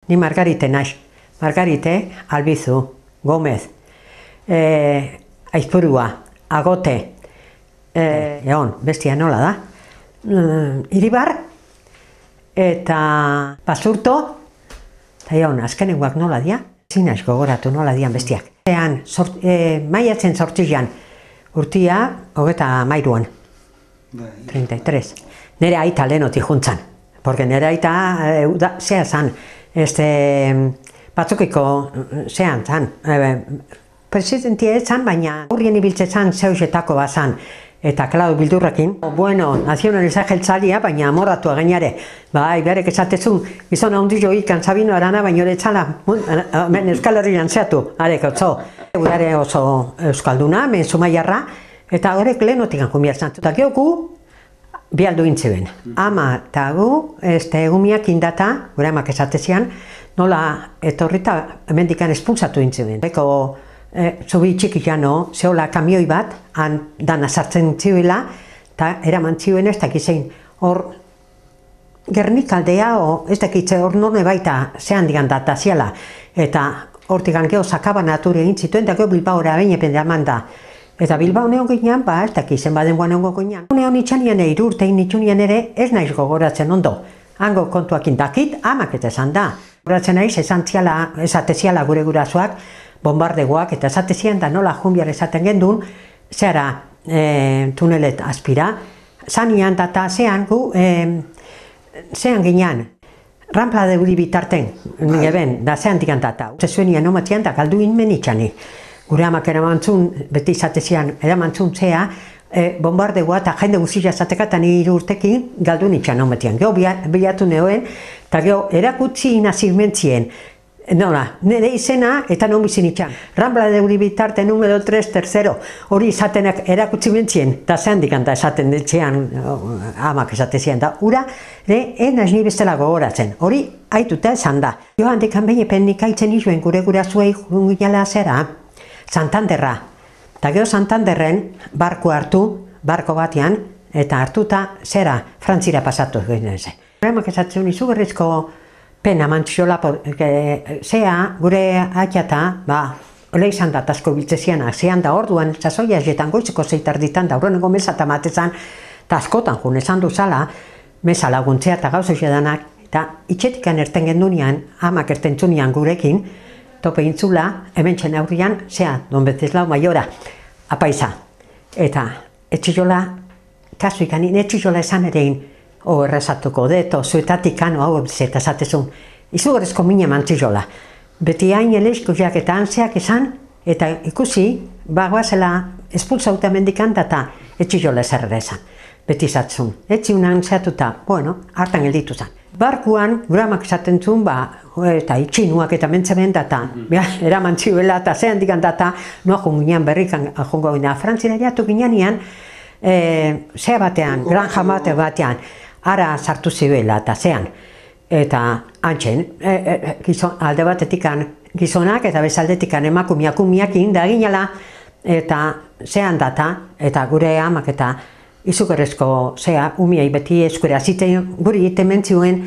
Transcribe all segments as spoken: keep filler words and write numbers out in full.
ni Margarite naiz. Margarite, Albizu, Gomez, e, Aizpurua, Agote, e, egon, bestia nola da, e, Iribar, eta Basurto, eta egon, azkenengoak nola dia, zinaiz gogoratu nola dian bestiak. Ean, sort, e, maiatzen sortzian, urtia, hogeta mairuan, treinta y tres. Nere aita lehenoti juntzan, porque nere aita, e, da, zea zan, este, batzukiko zean zan, e, presidentia ez zan, baina aurrien ibiltze zan zeusetako bazan, eta klau bildurrekin. Bueno, nazionaliza jeltzalia, baina amorratua gainare. Bai, berek esatezun, gizona hondillo ikan Sabino Arana, baina hori txala, men Euskal Herrian zeatu, arek otzo. Gure oso euskalduna, men Zumaiarra, eta horrek lehenotik ankumiatzen. Eta geoku, bialdu intziben. Ama eta gu, este, egumiak indata, gure amak esatezian, nola etorrita emendikan espulsatu intziben. Eko, e, zubi txiki jano, zehola kamioi bat, han dana sartzen zibila, eta eraman zibuen ez dakizein. Hor, Gernikaldea, o, ez dakitze hor none baita zehan digan data ziala. Eta hortik geho sakaba naturi egin zituen, eta geho Bilbaora behin epende aman da. Eta Bilbao neon ginean, ba, ez dakizen baden guan egon ginean. Neon itxanian ere, irurtein itxunian ere, ez naiz gogoratzen ondo. Hango kontuak indakit, amak eta esan da. Gogoratzen naiz, esan ziala, esateziala gure gurasoak, bombardegoak, eta esatezian da nola junbiar esaten gendun, zehara e, tunelet aspira, zanian data zean gu, e, zean ginean, Rampla de Uri bitarten, nire ben, da zean digan data. Zezuenian omatian da galdu inmen itxani. Gure amak eramantzun, beti izatezian, eramantzun zea, e, bombardegoa eta jende guztia zateka eta nire urtekin galdu nitxan omatian. Geho bilatu neoen, eta geho erakutzi inazirmentzien. Nola, nire izena eta non bizin itxan. Rambla de Uri bitarte numero tres, tercero, hori izatenak erakutsi mentzien, eta zehan dikanta esaten ditzean, amak esatezian da. Ura, ere, enaz ni bestela gogoratzen, hori haituta esan da. Joan dikan behin epen nik haitzen izuen gure gura zuei junginala zera, Santanderra. Eta geho Santanderren barko hartu, barko batean, eta hartuta zera, Frantzira pasatu egin zen. Emak esatzen izugarrizko pena mantziola, zea gure atxata, ba, ole izan da asko biltzezianak, zean da orduan, sasoia jetan goizeko zeitar ditan, da horreneko mesa eta matezan, eta askotan jun esan duzala, mesa laguntzea eta gauzo edanak, eta itxetikan erten gendunean, amak ertentzunian gurekin, tope intzula, hemen txen aurrian, zea, Don Bezeslau Maiora, apaisa. Eta etxillola, kasu ikanin, etxillola esan erein, o errezatuko deto, zuetatik kano hau eta esatezun, izugarrizko mina mantzillola. Beti hain eleizkoiak eta antzeak esan, eta ikusi, bagoazela espulsauta mendikan eta etxillola eserrera esan. Beti esatzun, etxiunan zeatuta, bueno, hartan gelditu zen. Barkuan, guramak esaten zuen, ba, eta itxinuak eta mentzeben data, eraman txiuela eta zehan digan data, noa junginean berrikan jungo gina. Frantzira jatu ginean, e, zea batean, granja bate batean, ara sartu zibuela eta zean. Eta antxen, e, e, gizon, alde batetikan gizonak eta bezaldetikan emakumiak umiakin da ginela, eta zehan data, eta gure amak eta izugarrezko zea umiai beti eskura ziten guri egiten mentzioen,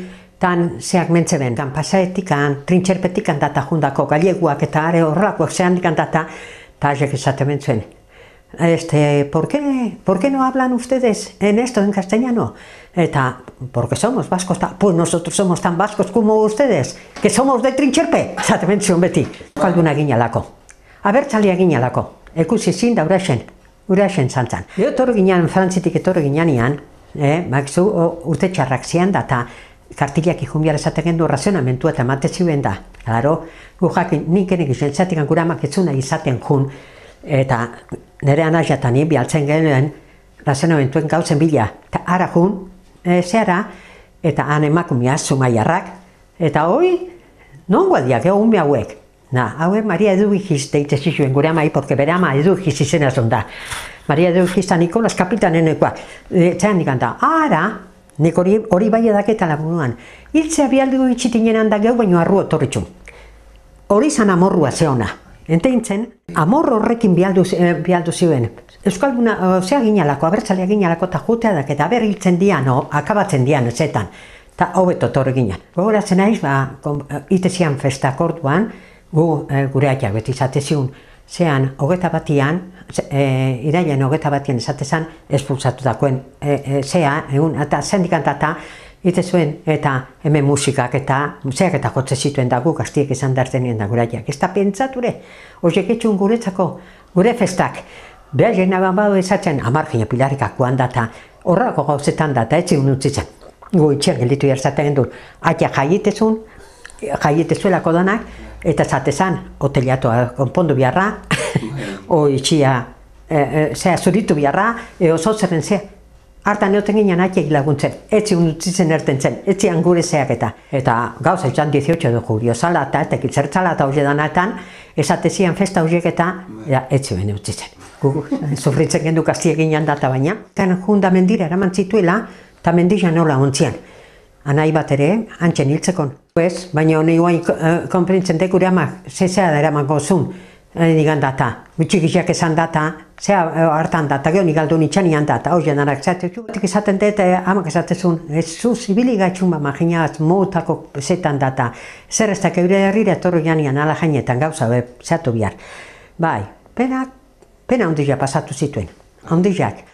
tan zeak mentzeben, tan pasaetikan, trintxerpetikan data jundako galeguak eta are horrakoak zehan dikan data, eta azek esaten mentzuen. Este, ¿por qué, ¿por qué no hablan ustedes en esto en castellano? Eta, porque somos vascos, pues nosotros somos tan vascos como ustedes, que somos de Trintxerpe, esaten mentzuen beti. Kalduna ginalako, abertzalia ginalako, ekusi zin da uraxen. Uraxen zantzan. Etorri ginean, Frantzitik etorri ginean, eh, bakzu urte txarrak zian da, eta kartiliak ikun esaten gendu razionamentua eta matezioen da. Claro, gu jakin, nik enik izan zatik gure amak etzuna izaten jun, eta nire anazjatan bialtzen genuen razionamentuen gauzen bila. Eta ara jun, e, zehara, eta han emakumia Zumaiarrak, eta hoi, non guadiak, egun ume hauek. Na, haue Maria Eduigiz deite zizuen gure amai, porque bere ama Eduigiz izena zon da. Maria Eduigiz da Nikolas kapitanenekoak. Zean nik da, ara, nik hori, hori bai edaketa lagunuan. Hiltzea bialdu itxitinen handak geu, baino arru otorritxun. Hori zan amorrua zeona. Enteintzen, amorro horrekin bialdu, eh, bialdu ziren. Euskalduna, zea ginalako, abertzalea ginalako eta jutea dak, eta aber hiltzen dian, o, akabatzen dian, ezetan. eta hobeto torre ginen. Gogoratzen naiz, ba, itezian festak orduan, gu e, gure aitak beti izateziun, zean hogeta batian, e, irailen hogeta batian esatezan, espulsatutakoen e, e, zea, egun, eta sendikantata, ite zuen, eta hemen musikak eta zeak eta jotze zituen da guk astiek izan dartenien da gure aitak. Ez da pentsature, horiek etxun guretzako, gure festak, behar jena badu esatzen, amargina pilarikakoan data, horrako gauzetan data, etxin utzitzen. Gu itxiak gelditu jartzaten gendu, atia jaietezun, jaietzuelako danak, eta zatezan, hoteliatoa konpondu biharra, o itxia, e, e, zea zuritu biharra, e, oso zerren zea. Hartan eoten ginen atiek laguntzen, etzi unutzitzen erten zen, etzian gure zeak eta. Eta gauza izan dieciocho de julio salata, eta kiltzertzalata hori danatan, esatezian festa horiek eta etzi bene utzitzen. Gu, sufritzen gendu kastiek ginen data baina. Eta junda mendira eraman zituela, eta mendila nola ontzian. Anai bat ere, antxen hiltzekon. Ez, baina honi guain konprintzen dekure amak, zezea da eraman gozun, digan data. Gutxikiak esan data, zea hartan data, geho nik aldo nitxan ian data, hori jenarak zatezu. Batik esaten dut, amak esatezun, ez zu zibili gaitxun ba maginaz, moutako zetan data. Zer ez da keure herrira etorro janian ala jainetan gauza, be, zeatu bihar. Bai, pena, pena ondila pasatu zituen, ondilak.